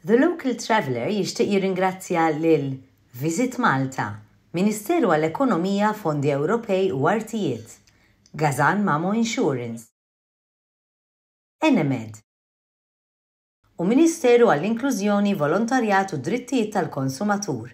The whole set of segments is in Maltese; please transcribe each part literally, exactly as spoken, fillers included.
The Local Traveller jixtieq jirringrazzja lil Visit Malta, Ministeru għall-Ekonomija, Fondi Ewropej u Artijiet, Gazan Mamo Insurance, Enemed u Ministeru għall-Inklużjoni, Volontarjat u Drittijiet tal-Konsumatur.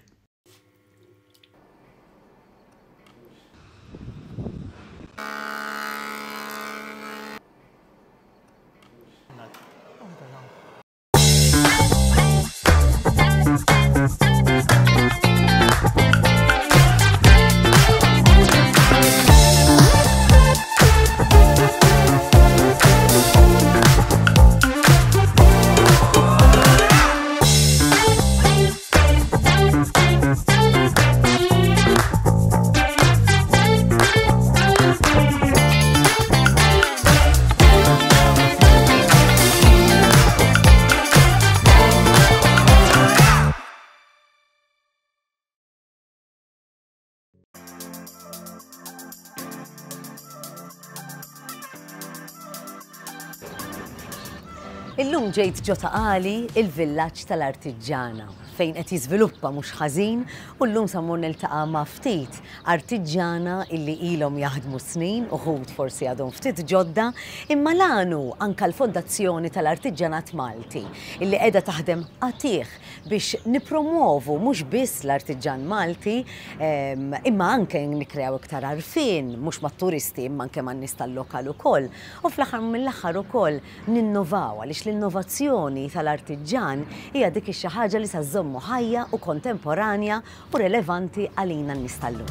Illum ġejt ġo Ta' Qali, il-villaġġ tal-artiġġana, fejn qed jiżviluppa mhux ħażin u llum sa mmur niltaqa' ma' ftit artiġġana illi ilhom jaħdmu snin, uħud forsi għadhom ftit ġodda, imma l-għan hu anke l-Fondazzjoni tal-Artiġġanat Malti illi qiegħda taħdem qatigħ biex nippromuovu mhux biss l-artiġġan Malti, imma anke nikkreaw iktar għarfien mhux mat-turisti imma anke man-nies tal-lokal ukoll. U fl-aħħar mill-aħħar ukoll ninnovaw għaliex l-innovazzjoni tal-artiġġan hija dik ix-xi ħaġa li sa żżommu ħajja u kontemporanja u relevanti għalina n-nies tal-lum.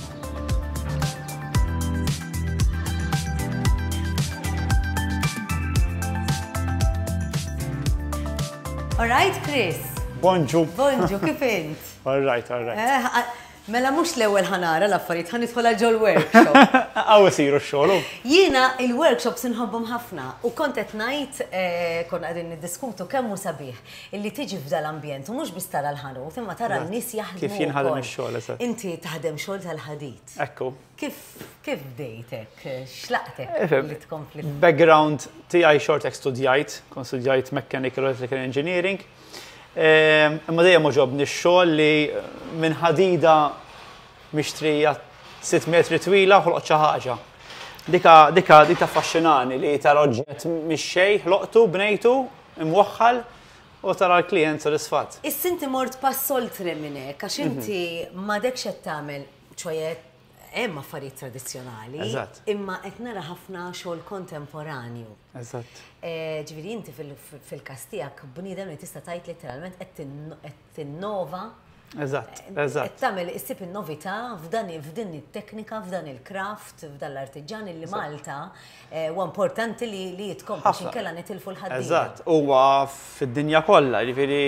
All right, Chris. Bonġu. Bonġu, kif int? All right, all right. Mela mhux l-ewwel ħanara l-affarijiet, ħa nidħol għal ġol-workshop. Hawn isiru x-xogħol. Jiena il-workshops inħobbhom ħafna u kont qed ngħid, konna qegħdin niddiskutu kemm hu sabiħ illi tiġi f'dal-ambjent u mhux biss tara l-ħanut imma tara n-nies jaħdmu. Kif jinħadem ix-xogħol, eżatt. Inti taħdem xogħol tal-ħadid. Ekku. Kif kif bdejtek? X'laqtek li tkompli? Background tiegħi xortek studjajt, kont studjajt Mechanical Electrical Engineering. Imma dejjem għoġobni x-xogħol li minn ħadida mixtrija sitt metri twila ħloqt xi ħaġa. Dika dika dik taffaxxinani li tara oġġett mix-xejn, ħloqtu, bnejtu, imwaħħal u tara l-klijent sodisfatt. Issa inti mort pass oltre minn hekk għax inti m'għadekx qed tagħmel, ċoe hemm affarijiet tradizzjonali, imma qed nara ħafna xogħol kontemporanju. Eżatt. Ġifieri inti fil-każ tiegħek bniedem li tista' tgħid letteralment qed tinnova. Eżatt, eżatt. Qed tagħmel issib in-novità f'dan f'din it-teknika, f'dan il-craft, f'dan l-artiġġan illi Malta huwa importanti li li jitkompli għax inkella nitilfu l-ħaddiema. Eżatt, huwa fid-dinja kollha, jiġifieri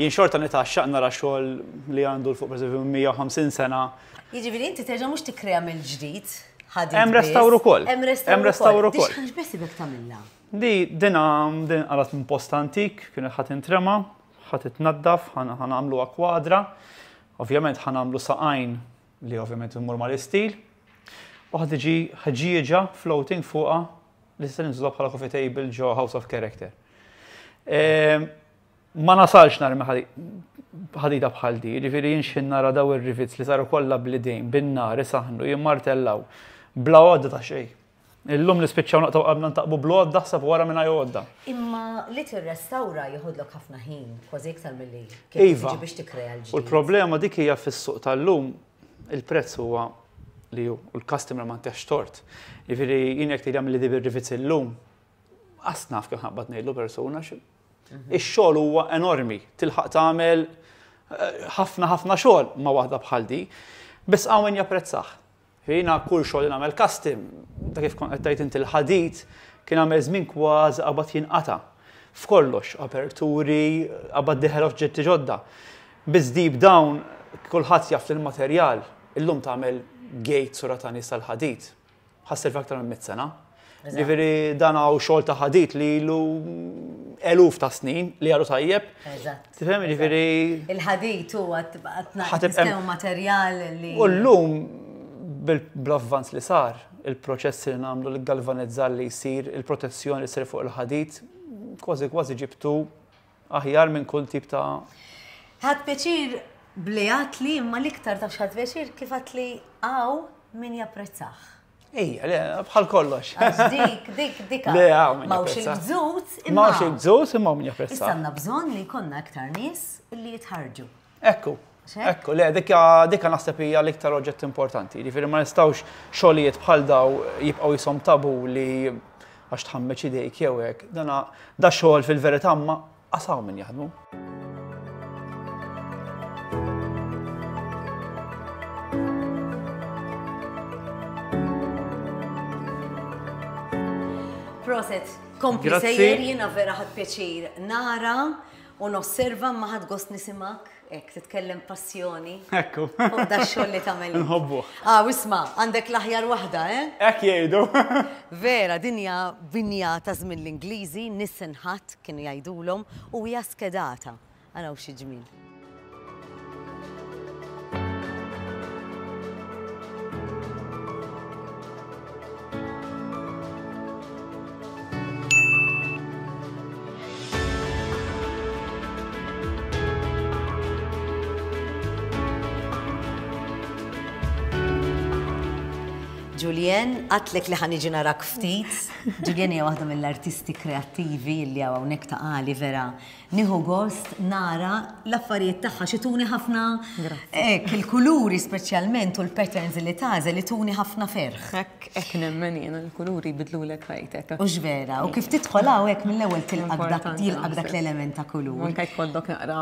jien xorta nitgħaxxaq nara xogħol li għandu l fuq pereżempju mija u ħamsin sena. Jiġifieri inti terġa' mhux tikkrea mill-ġdid ħadid. Hemm restawr ukoll. Hemm restawr ukoll. Dix ħax tagħmilha? Di dina din qalat minn post antik, kienet ħadd intrema, ħadd itnaddaf, ħanagħmluha kwadra. Ovvjament ħanagħmlu saqajn li ovvjament immur mal-istil. U ħad tiġi ħġieġa floating fuqha li se ninżluha bħala coffee table ġo House of Character. Ma nasalx narmi ħadida bħal di, jiġifieri jien x'ħin nara daw ir-rivets li saru kollha bl-idejn, bin-nar, isaħnu, jimmartellaw, bla għodda ta' xejn. Illum nispiċċaw naqtaw qabna ntaqbu bl-għodda ħseb wara mingħajr għodda. Imma li tirrestawra jieħodlok ħafna ħin, kważi iktar milli kif tiġi biex tikkrea l-ġdid. U l-problema dik hija fis-suq tal-lum il-prezz huwa li hu u l-customer ma ntihx tort. Jiġifieri jien jekk tgħid li di bir-rivets illum, qas naf kif ħabbat ngħidlu persuna xi. Ix-xogħol huwa enormi, tilħaq tagħmel ħafna ħafna xogħol ma' waħda bħal di, biss hawn min japprezzah. Jiena kull xogħol li nagħmel custom, ta' kif kont qed tgħid inti l-ħadid kien għamel żmien kważi qabad jinqata'. F'kollox, aperturi, qabad diħel oġġetti ġodda. Biss deep down kulħadd jaf li l-materjal illum tagħmel gate sura ta' nies tal-ħadid. Ħasser aktar minn mitt sena. Ġifieri dan hawn xogħol ta' ħadid li ilu eluf ta' snin li għadu tajjeb. Eżatt. Tifhem, ġifieri Il-ħadid huwa qed materjal li. U llum bl-avvanz li sar, il-proċess li nagħmlu, l-galvanizzar li jsir, il-protezzjoni li ssir fuq il-ħadid, kważi kważi ġibtu aħjar minn kull tip ta' Ħadt pjaċir bli għedtli, imma l-iktar taf x'ħadt pjaċir kif għedtli hawn min japprezzah. Ejja, le, bħal kollox. Għax dik, dik, dik. Le, hawn min M'hawnx japprezza. il-bżut, imma. M'hawnx il-bżut, imma min japprezza. Issa għandna bżonn li jkollna aktar nies li jitħarġu. Ekku, Xek? ekku, le, dikka dikka naħseb hija l-iktar oġġett importanti. Jiġifieri ma nistgħux xogħlijiet bħal daw jibqgħu jisom tabu li għax tħammeġ idejk jew hekk. Dana da xogħol fil-verità ma qasaw min jaħdmu. Prosit, kompli Grazzi. sejjer, jiena vera ħadt pjaċir nara u nosserva ma ħadt gost nismgħek, hekk titkellem passjoni. Ekku. Fuq da xogħol li tagħmel. Nħobbuh. Ah, isma', għandek l-aħjar waħda, eh? Hekk jgħidu. Vera, dinja binja ta' żmien l-Ingliżi, Nissen Hut kienu jgħidulhom u hija skedata. Araw xi ġmiel. Julien, għedtlek li ħa niġi narak ftit. Julien hija waħda mill-artisti kreattivi li hawn hawnhekk Ta' Qali vera. Nieħu gost nara l-affarijiet tagħha xituni ħafna. Hekk, il-kuluri speċjalment u l-patterns li tagħżel li tuni ħafna ferħ. Hekk, hekk nemmen jiena l-kuluri jbidlulek ħajtek. Ux vera, u kif tidħol hawn hekk mill-ewwel tilqak dak Importanti jilqak dak naħseb. l-element ta' kulur. Anke jkollok naqra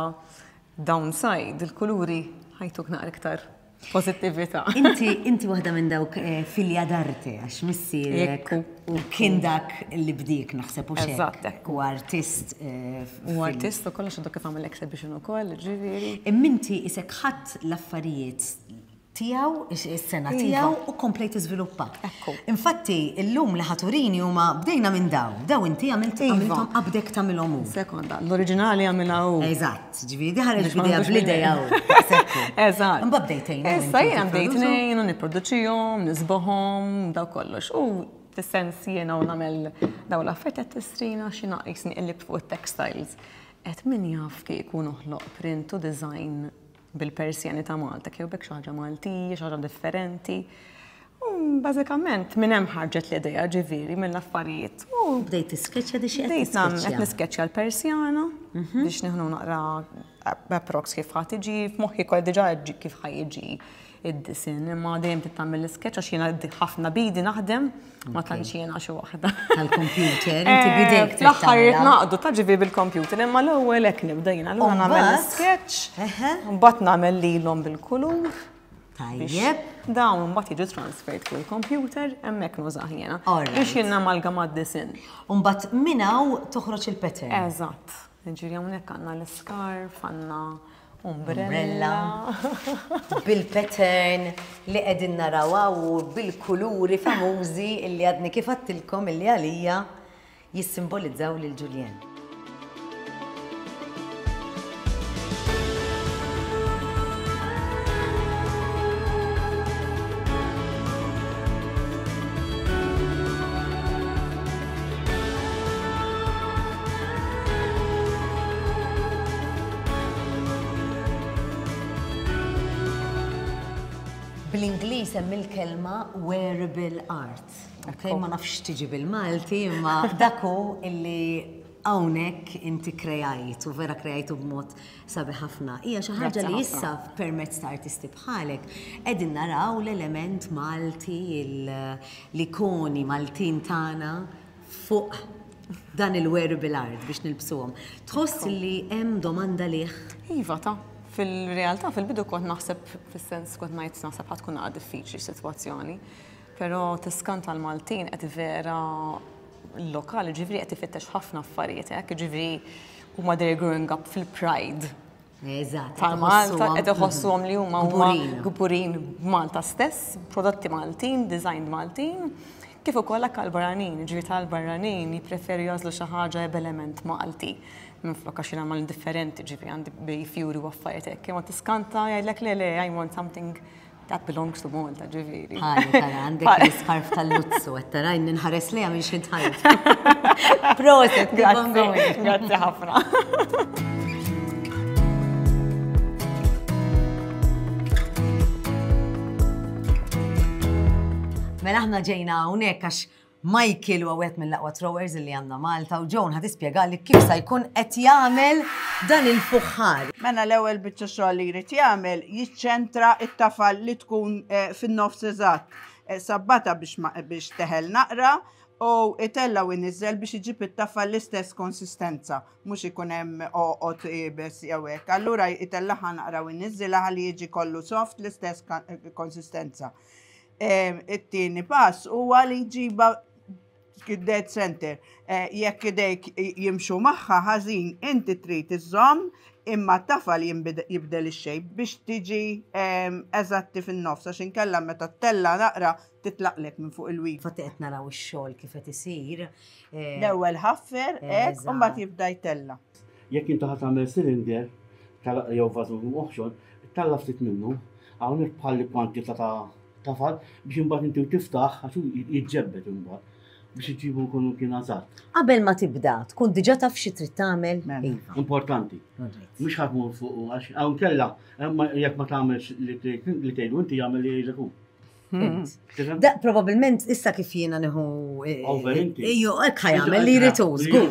downside, il-kuluri ħa jtuk naqra iktar pozittività. Inti inti waħda minn dawk eh, figlia d'arte, għax missierek Ekku. u kien dak li bdiek naħseb u xek. Eżatt, ekku. U artist. eh, U artist u kollox għadu kif għamel exhibition ukoll, ġifieri. Imma inti isek ħadt l-affarijiet tiegħu, is-sengħa Iva. tiegħu u komplejt tiżviluppa. Ekku. Infatti, illum li ħa turini huma bdejna minn daw. Daw inti għamilt Iva. għamilthom qabdek tagħmilhom hu. Sekonda, l-oriġinali għamilha hu. Eżatt, ġifieri ħareġ Biex ma bidea nħobbux bl-idea minni. hu. Daqshekk hu. Eżatt. Imbagħad bdejt tgħinu Issa inti jiena bdejt tipproduċu. ngħinu, nipproduċihom, nisbohom, daw kollox. U fis-sens jiena u nagħmel daw l-affarijiet qed tistrina xi naqis niqlib fuq it-textiles. Et min jaf kieku noħloq print u design bil-persjani ta' Malta, kieku bekk xi ħaġa Maltija, xi ħaġa differenti. U bażikament minn hemm ħarġet l-idea ġifieri mill-affarijiet. U Bdejt tiskeċċja di xi qed Bdejt nagħmel qed tiskeċċja. niskeċċja l-persjana biex nieħdu naqra approx kif ħa tiġi, f'moħħi kol diġà ġi- kif ħa jiġi id-disinn, imma dejjem tagħmel l-sketch għax jiena ħafna bidi naħdem, ma tantx jiena xi waħda. Tal-computer, inti bidejk trid L-aħħar tagħmilha. naqdu ta' ġifieri bil-computer, imma l-ewwel hekk nibda jiena allura nagħmel mbagħad? l-sketch, Eħe. mbagħad nagħmel lilhom bil-kulur. Tajjeb. Dawn mbagħad jiġu transferred fuq il-computer, hemmhekk nużah jiena. Alright. Biex jien namalgama d-disinn. U mbagħad minn hawn toħroġ il-pattern. Eżatt. Ġifieri hawnhekk għandna l-scarf, għandna Umbrella. umbrella. Bil-pattern li qegħdin naraw u bil-kuluri famużi illi għadni kif għedtilkom illi għalija jissimbolizzaw lil Julien. Bl-Ingliż hemm il-kelma wearable art. Ok, ma nafx tiġi bil-Malti, imma dak hu illi hawnhekk inti krejajt u vera krejajtu b'mod sabiħ ħafna. Hija xi ħaġa Grazzi li ħafna. issa permezz ta' artisti bħalek qegħdin naraw l-element Malti, il- l-ikoni Maltin tagħna fuq dan il-wearable art biex nilbsuhom. Tħoss li hemm domanda lih Iva ta' fil-realtà fil-bidu kont naħseb fis-sens kont ngħid naħseb ħa tkun naqra diffiċli sitwazzjoni. Però tiskanta l-Maltin qed vera l-lokali ġifieri qed ifittex ħafna affarijiet hekk, ġifieri huma they're growing up fil-pride Eżatt. tal-Malta, qed iħossuhom li huma huma Kburin. kburin b'Malta stess, prodotti Maltin, designed Maltin, kif ukoll hekk għall-barranin, ġifieri tal-barranin jippreferu jagħżlu xi ħaġa b'element Malti. Minflok għax jiena mal differenti, ġifieri għandi bi fjuri u affarijiet hekk, imma tiskanta jgħidlek le le I want something That belongs to Malta, ġifieri. Ħalli tara għandek l-iskarf tal-luzzu, qed tara nħares lejha minn xi tħajt. Proset, grazzi, grazzi ħafna. Mela aħna ġejna hawnhekk għax Michael huwa wieħed mill-aqwa throwers li għandna Malta u Joan ħa tispjegali kif sa jkun qed jagħmel dan il-fuħħar. Mela l-ewwel biċċa xogħol li jrid jagħmel jiċċentra t-tafal li tkun fin-nofs eżatt. Sabbata biex teħel naqra u itella u iniżżel biex iġib it-tafal l-istess konsistenza, mhux ikun hemm oqgħod iebes jew hekk. Allura itellaħa naqra u iniżżilha ħalli jiġi kollu soft l-istess konsistenza. It-tieni pass huwa li jġiba dead center. Jekk idejk jimxu magħha ħażin, inti trid iżżomm imma t-tafal jibdel ix-shape biex tiġi eżatti fin-nofs għax inkella meta ttella naqra titlaqlek minn fuq il-wheel. Fatti qed naraw ix-xogħol kif qed isir. L-ewwel ħaffer hekk u mbagħad jibda jtella. Jekk inti ħa tagħmel cylinder jew vażun oħxon, tella ftit minnu, hawnhekk bħalli kwantità ta' tafal biex imbagħad inti tiftaħ għax jiġġebbed imbagħad biex iġibu jkunu kien eżatt. Qabel ma tibda, tkun diġà taf xi trid tagħmel. Iva. Importanti. Mhux ħadd mur fuq għax hawn kellha jekk ma tagħmelx li tgħidu inti jagħmel li jgħidlek hu. Da probabbilment issa kif jiena nieħu Over inti. Ejju, hekk ħajamel li jrid hu, żgur.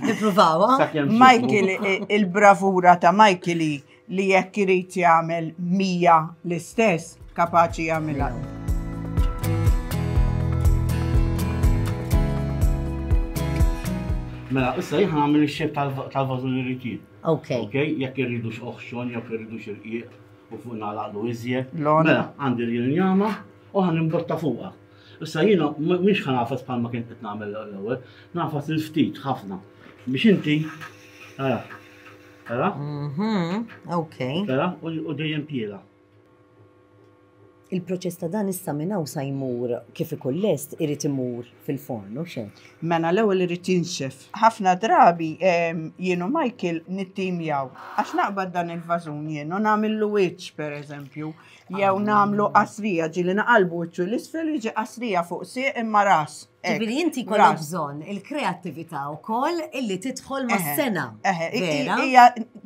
Nippruvawha. Michael, il-bravura ta' Michael li jekk irid jagħmel mija l-istess kapaċi jagħmilha. Mela, issa jien nagħmel ix-xejp tal-vażun li rrid jien. Ok. Ok, jekk irridux oħxon, jekk irridux irqiq u fuq nagħlaqlu iżjed. Mela, għandi l-injama u ħa nimbotta fuqha. Issa jiena mhix ħa nagħfas bħalma kien qed nagħmel l-ewwel, nagħfas il-ftit ħafna. Biex inti, ara, ara. Ok. Ara, u dejjem piela. Il-proċess ta' dan issa minn hawn sa jmur kif ikun lest irid imur fil-forn, u xejn. Mela l-ewwel irid jinxef. Ħafna drabi jien u Michael nittimjaw. Għax naqbad dan il-vażun jien u nagħmillu wiċċ pereżempju, jew nagħmlu qasrija ġieli naqalbu wiċċu l-isfel jiġi qasrija fuq sieq imma ras. Ġifieri inti jkollok bżonn il-kreattività wkoll illi tidħol mas-sena. Hija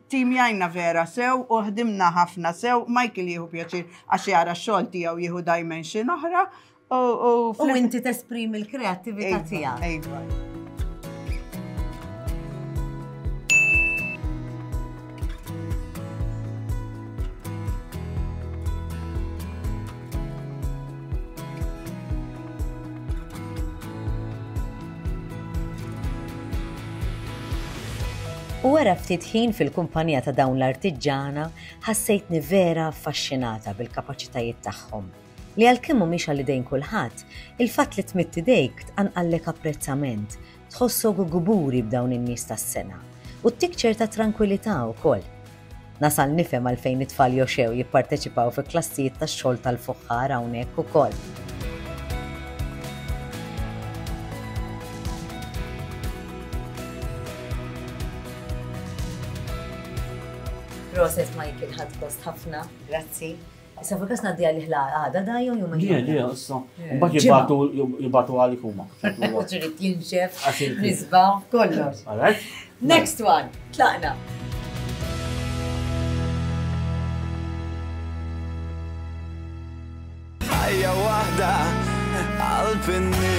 timjajna vera sew u ħdimna ħafna sew, Michael jieħu pjaċir għax jara x-xogħol tiegħu jieħu dimension oħra. U inti tesprimi l-kreattività tiegħek. Iva. U wara ftit ħin fil-kumpanija ta' dawn l-artiġġana, ħassejtni vera affaxxinata bil-kapaċitajiet tagħhom. Li għalkemm mhumiex għal idejn kulħadd, il-fatt li tmidd idejk tqanqallek apprezzament, tħossok gburi b'dawn in-nies tas-sena u ttik ċerta trankwillità wkoll. Nasal nifhem għalfejn it-tfal joxew jipparteċipaw fi klassijiet tax-xogħol tal-fuħħar hawnhekk ukoll. Proset Michael, ħadd gost ħafna, grazzi. Issa fuq kas ngħaddi għal ħla għada da jew jum Le, le, issa. Mbagħad jibgħatu jibgħatu għalik huma. Trid jinxef, nisba, kollox. All right. Next one, tlaqna. Ħajja waħda qalb in-nies.